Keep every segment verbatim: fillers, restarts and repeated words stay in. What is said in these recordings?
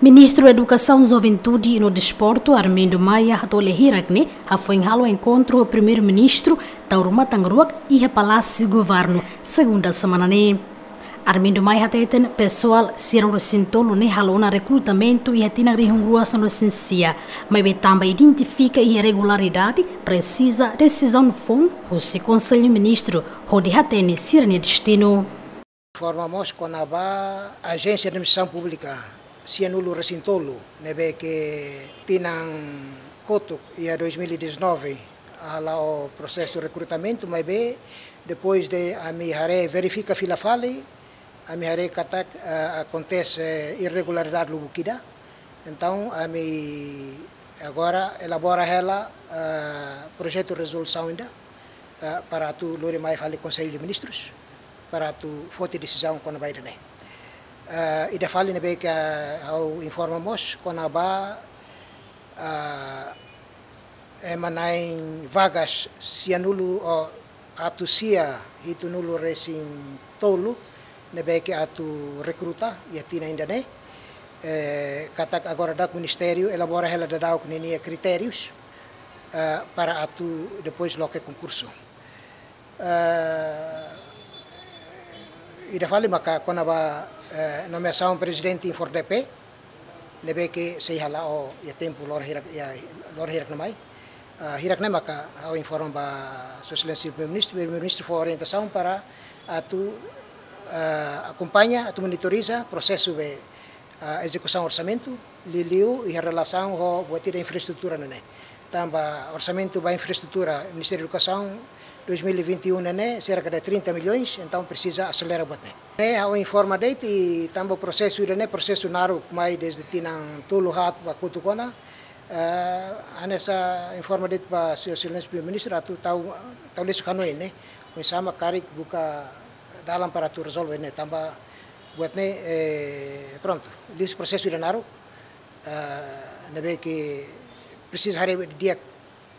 Ministru Edukasaun, Juventude no Desportu, Armindo Maia, hato'o lia hirak ne'e hafoin halo enkontru ho Primeiru-Ministru, Taur Matan Ruak, iha Palásiu Governu, segunda semana ne'e. Armindo Maia hateten pesoál sianulu-resin-tolu ne'e halo ona rekrutamentu iha tinan rihun rua sanulu-resin-sia, maibé tanba identifika irregularidade, presiza desizaun foun husi Konsellu Ministru hodi hatene sira-nia destinu. Informa mós kona-ba Ajénsia Administrasaun Públika sianulu-resin-tolu, ne'ebé ke tinan kotuk iha dois mil e dezanove hala'o prosesu rekrutamentu, maibé depois de ami haree verifika fila fali, ami haree katak, eh, akontese irregularidade lubuk ida. Entaun, ami agora elabora hela, eh, projetu rezolusaun ida, eh, para atu lori mai fali Konsellu de Ministrus, para atu foti desizaun kona-ba ida-ne'e. Eh, ida fali ne'ebé ke, eh, ha'u informa mós kona-ba, eh, ema na'in vagas sianulu, oh, atus sia hitunulu-resin-tolu ne'ebé ke atu rekruta iha tinan ida-ne'e. Eh, katak agora daudaun ministériu elabora hela daudaun ninia kritérius, eh, para atu depois loke konkursu. Eh, ida fali maka kona-ba, eh, nomeasaun prezidente INFORDEPE, ne'ebé ke sei hala'o iha tempu loron hirak, iha loron hirak ne'e mai. Ah, hirak ne'e maka ha'u informa ba Sua Exelénsia Primeiru-Ministru, Primeiru-Ministru fó orientasaun para atu, ah, akompaña, atu monitoriza prosesu be, ah, ezekusaun orsamentu, liuliu iha relasaun ho buat ida infraestrutura ne'e. Tanba orsamentu ba infraestrutura Ministériu Edukasaun dois mil e vinte e um ne'e, serka de trinta milhões, entaun presiza aselera buat ne'e. Ne'e ha'u informa de'it, i tanba prosesu ida-ne'e prosesu naruk mai dezde tinan tolu haat ba kotuk ona, eh, hanesan informa de'it ba Sua Exelénsia Primeiru-Ministru atu tau, tau lesu kanoin ne'e, oinsá mak karik buka dalan para atu rezolve ne'e, tanba buat ne'e, eh, prontu, liuhusi prosesu ida naruk, eh, ne'ebé ke presiza haree didi'ak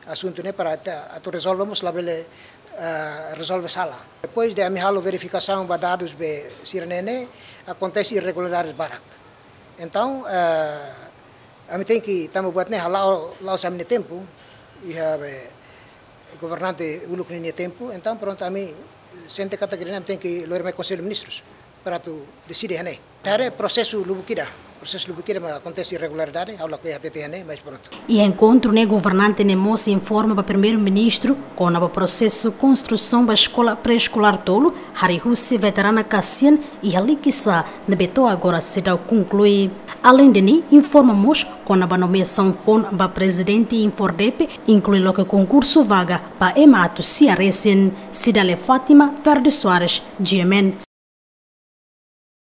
asuntu ne'e para atu, atu rezolve mós labele, eh, rezolve sala. Depois de ami halo verifikasaun ba dadus be sira-ne'e ne'e, akontese irregularidades barak. Entaun, eh, ami tenke, tanba buat ne'e hala'o, la'ós ami-nia tempu, iha be governante uluk ninia tempu, entaun prontu ami sente katak ida-ne'e ami tenke lori mai Konsellu Ministrus para atu deside iha ne'e. Haree prosesu lubuk ida, prosesu lubuk ida mak akontese irregularidade, ha'u lakohi hatete iha ne'e, mas prontu. Iha enkontru ne'e governante ne'e mós informa ba Primeiru-Ministru kona-ba prosesu konstrusaun ba eskola pré-eskolár tolu, harii husi veterana Kasian iha Likisá, ne'ebé to'o agora seidauk konklui. Aleinde ne'e, informa mós kona-ba nomeasaun foun ba prezidente INFORDEPE, inklui loke konkursu vaga ba ema atus sia resin. Cidália Fátima, Ferdi Soares, G M N.